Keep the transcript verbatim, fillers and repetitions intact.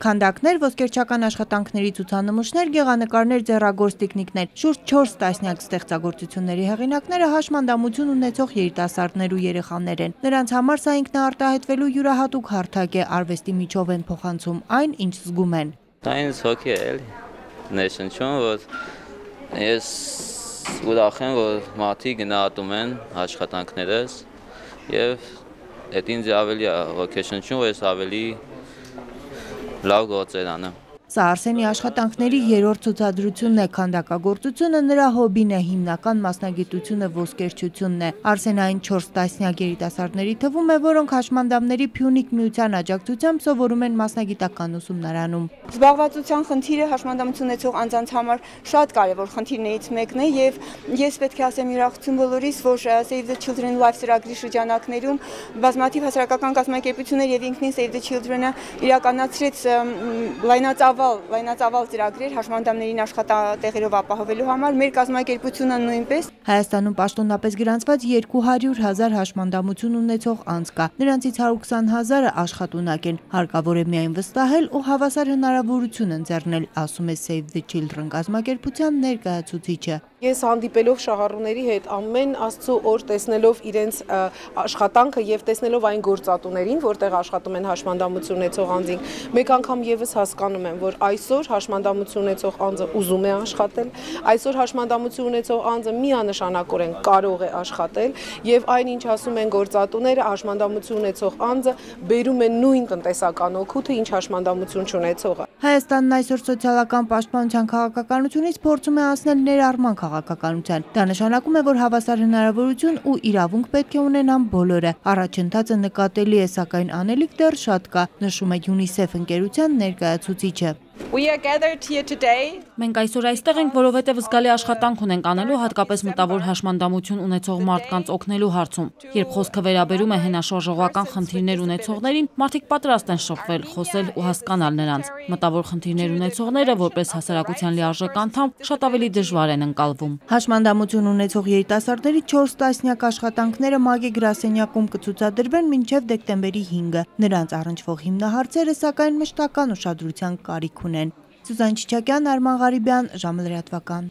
Քանդակներ, ոսկերչական աշխատանքների ցուցանմուշներ, գեղանկարներ, ձեռագործ տիկնիկներ, շուրջ չորս տասնյակ ստեղծագործությունների հեղինակները հաշմանդամություն ունեցող երիտասարդներ ու երեխաներ են։ Նրանց համար սա ինքնաարտահայտվելու յուրահատուկ հարթակ է, արվեստի միջով են փոխանցում այն, ինչ զգում են։ Դա ինձ հոգի է, էլի, ներշնչում, որ ես ուրախ եմ, որ մարդիկ գնահատում են աշխատանքներս եւ այդ ինձ ավելի ոգեշնչում, որ ես ավելի լավ գործեր անեմ։ Սա Արսենի աշխատանքների երրորդ ցուցադրությունն է, քանդակագործությունը նրա հոբին է, հիմնական մասնագիտությունը ոսկերչությունն է։ Արսենային չորս տասնյակ երիտասարդների թվում է, որոնք հաշմանդամների Փյունիկ միության աջակցությամբ սովորում են մասնագիտական ուսումնարանում։ Զբաղվածության խնդիրը հաշմանդամություն ունեցող անձանց համար շատ կարևոր խնդիրներից մեկն է եւ ես պետք է ասեմ յուրախություն բոլորիս, որ Save the Children Life ծրագրի շրջանակներում բազմաթիվ հասարակական կազմակերպություններ եւ ինքնին Save the Children-ը իրականացրեց լայնածավալ լայնածավալ ծրագրեր հաշմանդամներին աշխատատեղերով ապահովելու համար, մեր կազմակերպությունը նույնպես։ Հայաստանում պաշտոնապես գրանցված երկու հարյուր հազար հաշմանդամություն ունեցող անձ կա, նրանցից հարյուր քսան հազարը աշխատունակ են, հարկավոր է միայն վստահել ու հավասար հնարավորություն ընձեռնել, ասում է Save the Children կազմակերպության ներկայացուցիչը։ Ես հանդիպելով շահառուների հետ ամեն Աստծո օր տեսնելով իրենց աշխատանքը եւ տեսնելով այն գործատուներին, որտեղ աշխատում են հաշմանդամություն ունեցող անձին, մեկ անգամ եւս հասկանում եմ, որ այսօր հաշմանդամություն ունեցող անձը ուզում է աշխատել, այսօր հաշմանդամություն ունեցող անձը միանշանակորեն կարող է աշխատել եւ այն ինչ ասում են գործատուները, հաշմանդամություն ունեցող անձը բերում է նույն տնտեսական օգուտը, ինչ հաշմանդամություն չունեցողը։ Հայաստանն այսօր սոցիալական պաշտպանության քաղաքականությունից փորձում է անցնել ներառման քաղաքականության։ Դա նշանակում է, որ հավասար հնարավորություն ու իրավունք պետք է ունենան բոլորը։ Առաջընթացը նկատելի է, սակայն անելիք դեռ շատ կա, նշում է UNICEF ընկերության ներկայացուցիչը։ Մենք այսօր այստեղ ենք, որովհետև զգալի աշխատանք ունենք անելու հատկապես մտավոր հաշմանդամություն ունեցող մարդկանց օգնելու հարցում։ Երբ խոսքը վերաբերում է հենաշարժողական խնդիրներ ունեցողներին, մարդիկ պատրաստ են շփվել, խոսել ու հասկանալ նրանց։ Մտավոր խնդիրներ ունեցողները, որպես հասարակության լիարժեք անդամ, շատ ավելի դժվար են ընկալվում։ Հաշմանդամություն ունեցող երիտասարդների չորս տասնյակ աշխատանքները Մագի գրասենյակում կցուցադրվեն մինչև դեկտեմբերի հինգը։ Նրանց առնչվող հիմնահարցերը սակայն մշտական ուշադրության կարիք ունեն։ Սուզան Չիչակյան, Արման Ղարիբյան, ժամը լրատվական։